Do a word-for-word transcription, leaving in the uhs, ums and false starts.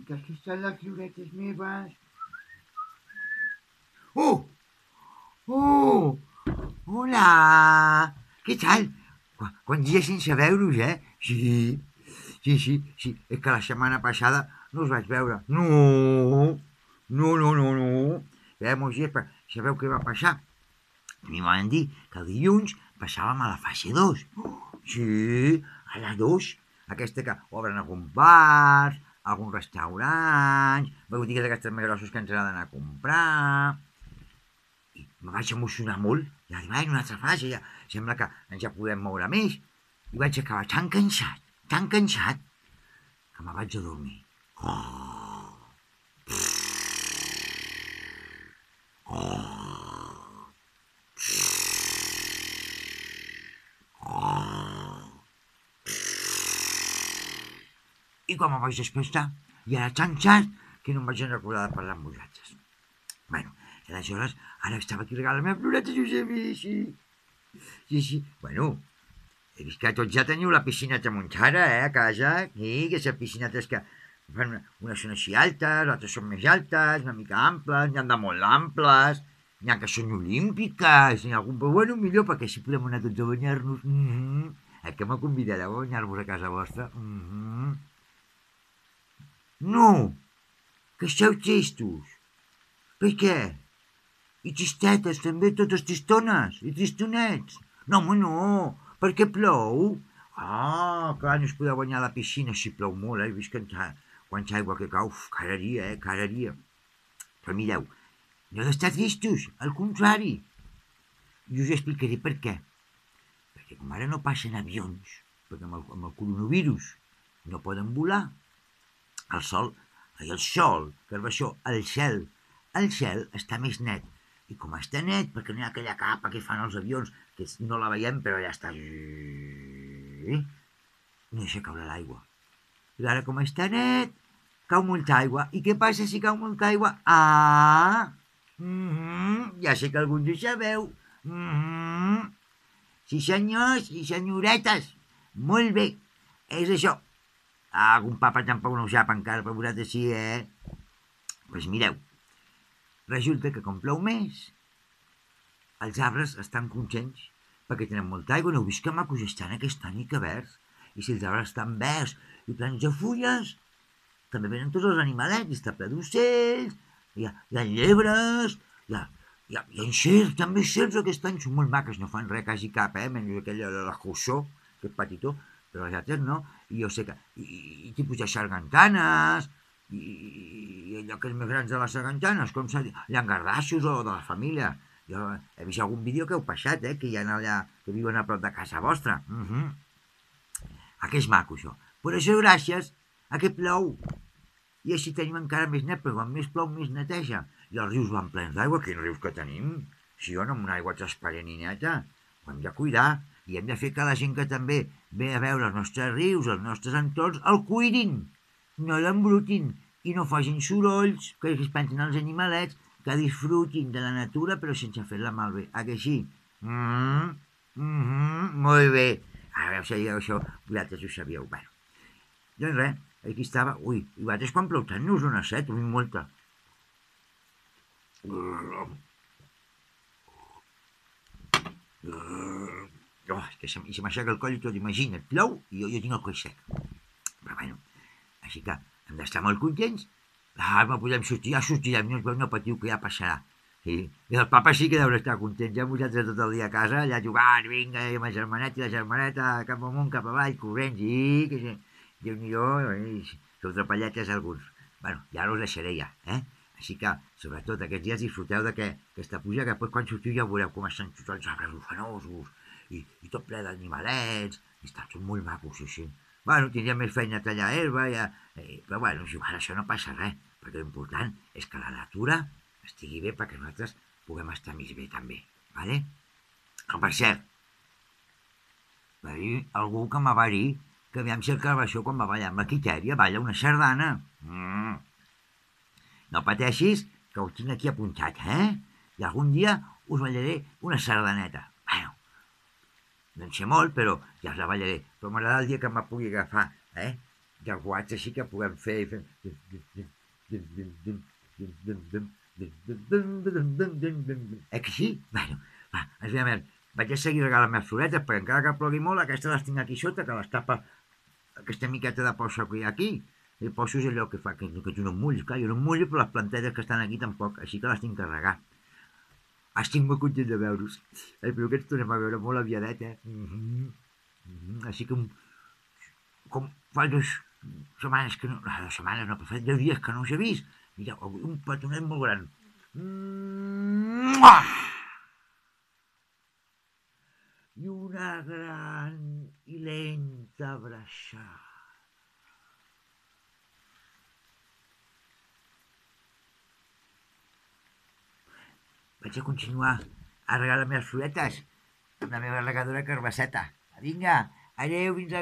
que aquí estan les llibretes meves. Oh! Oh! Hola! Què tal? Qu- Quants dies sense veure-us, eh? Sí, sí, sí, sí. És que la setmana passada no us vaig veure. No! No, no, no, no. Ja molts dies, però sabeu què va passar? A mi m'han dit que el dilluns passàvem a la fase dos. Sí, a la dos. Aquesta que obren algun bar, algun restaurant, botigues d'aquestes més grosses que ens agraden a comprar. I me vaig emocionar molt. I vaig dir, vai, una altra fase, ja. Sembla que ens ja podem moure més. I vaig acabar tan cansat, tan cansat, que me vaig a dormir. Oh, oh, oh. I quan me vaig despertar, ja era tan tard que no em vaig recordar de parlar amb vosaltres. Bueno, i aleshores, ara estava aquí regalant les meves floretes i us he vist, sí. Sí, sí. Bueno, he vist que tots ja teniu la piscineta muntada, eh, a casa. Sí, que aquestes piscinetes que fan una, unes són així altes, altres són més altes, una mica amples, n'hi ha de molt amples, n'hi ha que són olímpiques, n'hi ha algun... Però bueno, millor, perquè així podem anar tots a banyar-nos. Mm -hmm. Eh, que me convidareu a banyar-vos a casa vostra? Mm -hmm. No, que esteu tristos. Per què? I tristetes també, totes tristones i tristonets. No, home, no, perquè plou. Ah, clar, no es podeu banyar a la piscina si plou molt, eh? He vist que quanta aigua que cau, uf, cada dia, eh, cada dia. Però mireu, no heu d'estar tristos, al contrari. I us explicaré per què. Perquè com ara no passen avions, perquè amb el, amb el coronavirus no poden volar, el sol, ai, el sol, que és això, el cel, el cel està més net. I com està net, perquè no hi ha aquella capa que fan els avions, que no la veiem, però ja està... No deixa caure l'aigua. I ara, com està net, cau molta aigua. I què passa si cau molta aigua? Ah! Mm -hmm. Ja sé que alguns ho sabeu. Mm -hmm. Sí, senyors i senyoretes. Molt bé. És això. Ah, algun papa tampoc no ho sap encara, però vosaltres sí, eh? Doncs pues mireu, resulta que com plou més, els arbres estan contents perquè tenen molta aigua. No heu vist que macos estan aquest any i que verds? I si els arbres estan verds i plens de fulles, també venen tots els animalets, i està ple d'ocells, hi ha, hi ha llebres, hi ha, hi ha, hi ha encerts, també serps aquest any, són molt maques, no fan res quasi cap, eh? Menys aquella de la Jussó, que és petitó, però les altres no. I jo sé que... I, i, i tipus de sargantanes, i, i allò que és més grans de les sargantanes, com s'ha dit, llangardaixos o de la família. Jo he vist algun vídeo que heu passat, eh? Que hi ha allà, que viuen a prop de casa vostra. Uh -huh. Ah, que és maco, això. Per això, gràcies a que plou. I així tenim encara més net, perquè quan més plou, més neteja. I els rius van plens d'aigua. Quins rius que tenim? Si jo no, amb una aigua transparent i neta. Ho hem de cuidar. I hem de fer que la gent que també ve a veure els nostres rius, els nostres entorns, el cuidin. No l'embrutin. I no facin sorolls, que es pensen els animalets, que disfrutin de la natura, però sense fer-la malbé. Ah, que sí? Mm -hmm. Mm -hmm. Molt bé. Ara ho sabíeu això, vosaltres ho sabíeu. Bueno, doncs res, aquí estava... Ui, i vosaltres quan plou tant no us dona set, ui, molta. Oh, és que se, se m'aixeca el coll i tot, imagina't, plou i jo, jo tinc el coll sec. Però bueno, així que hem d'estar molt contents. Ah, no podem sortir, ja sortirem, no, no patiu, que ja passarà. Sí. I el papa sí que deu estar content, ja vosaltres tot el dia a casa, allà jugant, vinga, i amb el germanet i la germaneta, cap amunt, cap avall, corrents, i que sí. Déu-n'hi-do, sou trapalletes alguns. Bueno, ja us deixaré ja, eh? Així que, sobretot, aquests dies disfruteu d'aquesta puja, que després quan sortiu ja veureu com estan tots els arbres ufanosos, i, i tot ple d'animalets, i estan tots molt macos, sí, sí. Bueno, tindria més feina a tallar herba, ja, eh, però bueno, si ara això no passa res, perquè l'important és que la natura estigui bé perquè nosaltres puguem estar més bé també, vale? Oh, per cert, va dir algú que me va dir que aviam si el Carbaixó quan va ballar amb la Quitèria balla una sardana. Mm. No pateixis, que ho tinc aquí apuntat, eh? I algun dia us ballaré una sardaneta. Bueno, no en sé molt, però ja us la ballaré. Però m'agrada el dia que me pugui agafar, eh? llenguatge així que puguem fer i fem... Eh que sí? Bueno, va, ens veiem. Vaig a seguir regalant més floretes, perquè encara que plogui molt, aquestes les tinc aquí sota, que les tapa aquesta miqueta de poça que hi ha aquí. El poço és allò que fa que, que tu no em mullis. Clar, jo no em mullo, però les plantetes que estan aquí tampoc, així que les tinc que regar. Estic molt content de veure-us. Espero que ens tornem a veure molt aviadet, eh? Mm -hmm. Mm -hmm. Així que, com fa dues setmanes que no... Dues setmanes no, però fa deu dies que no us he vist. Mira, un petonet molt gran. Mua! I una gran i lenta abraçada. Vaig a continuar a regar les meves floretes amb la meva regadora carbasseta. Vinga, adeu, fins aviat.